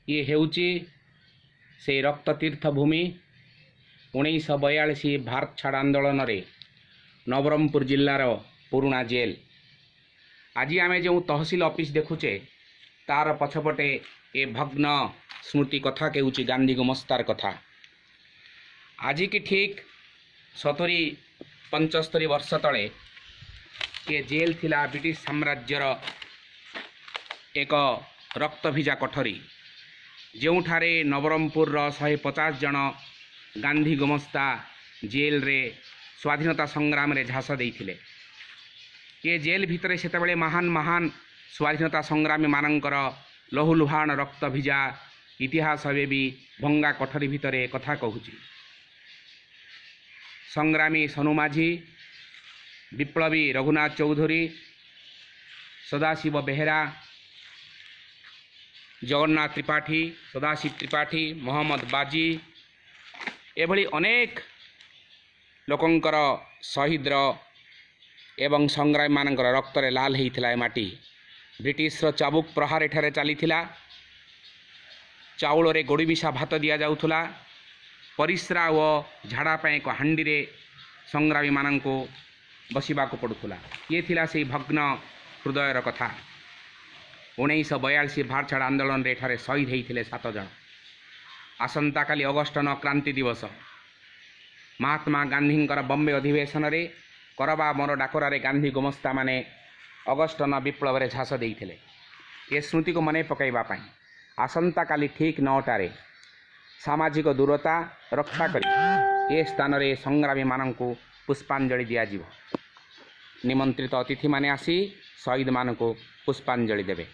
ଇଏ ହେଉଛି ସେଇ ରକ୍ତତୀର୍ଥ ଭୂମି। 1942 ଭାରତ ଛାଡ଼ ଆନ୍ଦୋଳନରେ ନବରଙ୍ଗପୁର ଜିଲ୍ଲାର ପୁରୁଣା ଜେଲ୍। ଆଜି ଆମେ ଯେଉଁ ତହସିଲ ଅଫିସ ଦେଖୁଛେ, ତାର ପଛପଟେ ଏ ଭଗ୍ନ ସ୍ମୃତି କଥା କହୁଛି, ଗାନ୍ଧୀ ଗୁମସ୍ତାର କଥା। ଆଜିକି ଠିକ୍ 70 75 ବର୍ଷ ତଳେ ଏ ଜେଲ୍ ଥିଲା ବ୍ରିଟିଶ ସାମ୍ରାଜ୍ୟର ଏକ ରକ୍ତଭିଜା କୋଠରୀ, ଯେଉଁଠାରେ ନବରଙ୍ଗପୁରର 150 ଜଣ ଗାନ୍ଧୀ ଗୁମସ୍ତା ଜେଲ୍ରେ ସ୍ୱାଧୀନତା ସଂଗ୍ରାମରେ ଝାସ ଦେଇଥିଲେ। ଏ ଜେଲ୍ ଭିତରେ ସେତେବେଳେ ମହାନ ମହାନ ସ୍ୱାଧୀନତା ସଂଗ୍ରାମୀମାନଙ୍କର ଲହୁଲୁହାଣ ରକ୍ତ ଭିଜା ଇତିହାସ ଏବେ ବି ଭଙ୍ଗା କୋଠରୀ ଭିତରେ କଥା କହୁଛି। ସଂଗ୍ରାମୀ ସନୁ ମାଝୀ, ବିପ୍ଳବୀ ରଘୁନାଥ ଚୌଧୁରୀ, ସଦାଶିବ ବେହେରା, ଜଗନ୍ନାଥ ତ୍ରିପାଠୀ, ସଦାଶିବ ତ୍ରିପାଠୀ, ମହମ୍ମଦ ବାଜି, ଏଭଳି ଅନେକ ଲୋକଙ୍କର ଶହୀଦର ଏବଂ ସଂଗ୍ରାମୀମାନଙ୍କର ରକ୍ତରେ ଲାଲ ହେଇଥିଲା ଏ ମାଟି। ବ୍ରିଟିଶର ଚାବୁକ ପ୍ରହାର ଏଠାରେ ଚାଲିଥିଲା। ଚାଉଳରେ ଗୋଡ଼ି ମିଶା ଭାତ ଦିଆଯାଉଥିଲା। ପରିସ୍ରା ଓ ଝାଡ଼ା ପାଇଁ ଏକ ହାଣ୍ଡିରେ ସଂଗ୍ରାମୀମାନଙ୍କୁ ବସିବାକୁ ପଡ଼ୁଥିଲା। ଇଏ ଥିଲା ସେଇ ଭଗ୍ନ ହୃଦୟର କଥା। 1942 ଭାରତ ଛାଡ଼ ଆନ୍ଦୋଳନରେ ଏଠାରେ ଶହୀଦ ହେଇଥିଲେ 7 ଜଣ। ଆସନ୍ତାକାଲି ଅଗଷ୍ଟ 9 କ୍ରାନ୍ତି ଦିବସ। ମହାତ୍ମା ଗାନ୍ଧୀଙ୍କର ବମ୍ବେ ଅଧିବେଶନରେ କରବା ମୋର ଡାକରାରେ ଗାନ୍ଧୀ ଗୁମସ୍ତାମାନେ ଅଗଷ୍ଟ 9 ବିପ୍ଳବରେ ଝାସ ଦେଇଥିଲେ। ଏ ସ୍ମୃତିକୁ ମନେ ପକାଇବା ପାଇଁ ଆସନ୍ତାକାଲି ଠିକ୍ 9ଟାରେ ସାମାଜିକ ଦୂରତା ରକ୍ଷା କରି ଏ ସ୍ଥାନରେ ସଂଗ୍ରାମୀମାନଙ୍କୁ ପୁଷ୍ପାଞ୍ଜଳି ଦିଆଯିବ। ନିମନ୍ତ୍ରିତ ଅତିଥିମାନେ ଆସି ଶହୀଦମାନଙ୍କୁ ପୁଷ୍ପାଞ୍ଜଳି ଦେବେ।